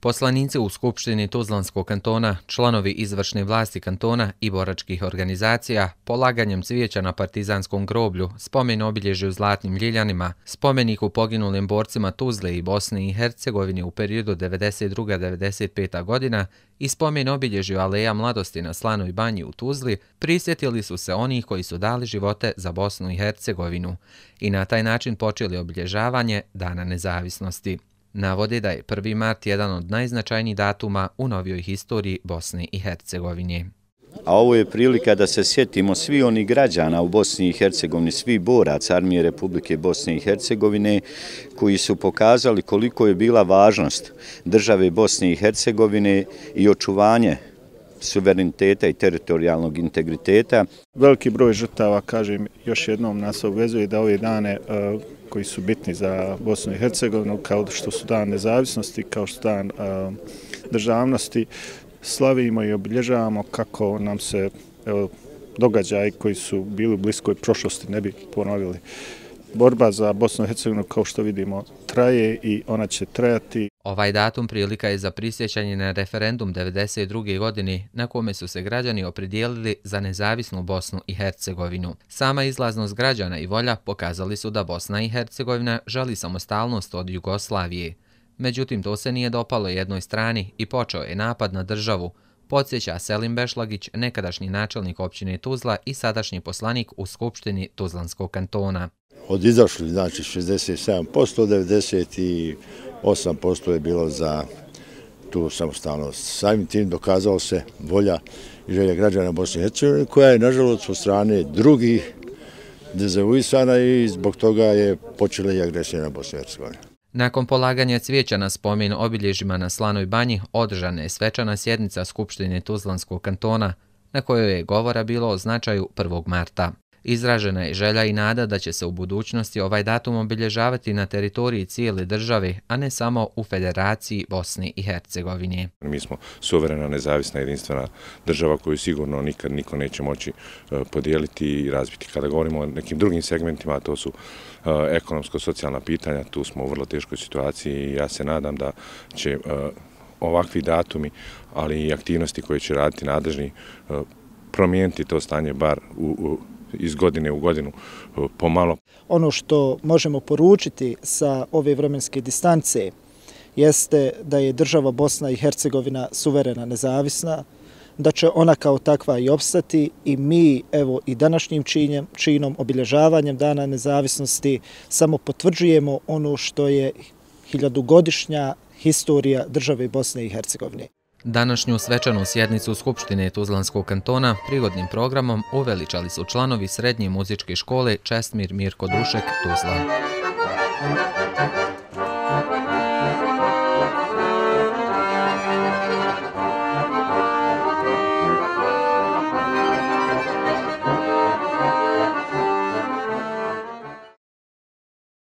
Poslanici u Skupštini Tuzlanskog kantona, članovi izvršne vlasti kantona i boračkih organizacija, polaganjem cvijeća na partizanskom groblju, spomen obilježju Zlatnim Ljiljanima, spomeniku poginulim borcima Tuzle i Bosne i Hercegovine u periodu 92-95. godina i spomen obilježju Aleja mladosti na Slanoj banji u Tuzli, prisjetili su se onih koji su dali živote za Bosnu i Hercegovinu i na taj način počeli obilježavanje Dana nezavisnosti. Navode da je 1. mart jedan od najznačajnijih datuma u novijoj historiji Bosne i Hercegovine. A ovo je prilika da se sjetimo svi onih građana u Bosni i Hercegovini, svi boraca Armije Republike Bosne i Hercegovine koji su pokazali koliko je bila važnost države Bosne i Hercegovine i očuvanje suvereniteta i teritorijalnog integriteta. Veliki broj žrtava, kažem, još jednom nas obvezuje da ove dane koji su bitni za Bosnu i Hercegovinu, kao što su dan nezavisnosti, kao što dan državnosti, slavimo i obilježavamo kako nam se događaji koji su bili u bliskoj prošlosti ne bi ponovili. Borba za Bosnu i Hercegovinu, kao što vidimo, traje i ona će trajati. Ovaj datum prilika je za prisjećanje na referendum 1992. godine na kome su se građani opredijelili za nezavisnu Bosnu i Hercegovinu. Sama izlaznost građana i volja pokazali su da Bosna i Hercegovina želi samostalnost od Jugoslavije. Međutim, to se nije dopalo jednoj strani i počeo je napad na državu, podsjeća Selim Bešlagić, nekadašnji načelnik općine Tuzla i sadašnji poslanik u Skupštini Tuzlanskog kantona. Od izašli, znači 67%, 98% je bilo za tu samostalnost. Samim tim dokazalo se volja i želja građana Bosne i Hercegovine, koja je, nažalost, od strane drugih dezavuisana i zbog toga je počela i agresija na Bosnu i Hercegovinu. Nakon polaganja cvijeća na spomen obilježjima na Slanoj banji, održana je svečana sjednica Skupštine Tuzlanskog kantona, na kojoj je govora bilo o značaju 1. marta. Izražena je želja i nada da će se u budućnosti ovaj datum obilježavati na teritoriji cijele države, a ne samo u Federaciji Bosne i Hercegovine. Mi smo suverena, nezavisna, jedinstvena država koju sigurno nikad niko neće moći podijeliti i razbiti. Kada govorimo o nekim drugim segmentima, a to su ekonomsko-socijalna pitanja, tu smo u vrlo teškoj situaciji i ja se nadam da će ovakvi datumi, ali i aktivnosti koje će raditi nadležni, promijeniti to stanje bar iz godine u godinu pomalo. Ono što možemo poručiti sa ove vremenske distance jeste da je država Bosna i Hercegovina suverena, nezavisna, da će ona kao takva i opstati i mi, evo, i današnjim činom, obilježavanjem Dana nezavisnosti samo potvrđujemo ono što je hiljadugodišnja historija države Bosne i Hercegovine. Današnju svečanu sjednicu Skupštine Tuzlanskog kantona prigodnim programom uveličali su članovi Srednje muzičke škole Čestmir Mirko Dušek Tuzla.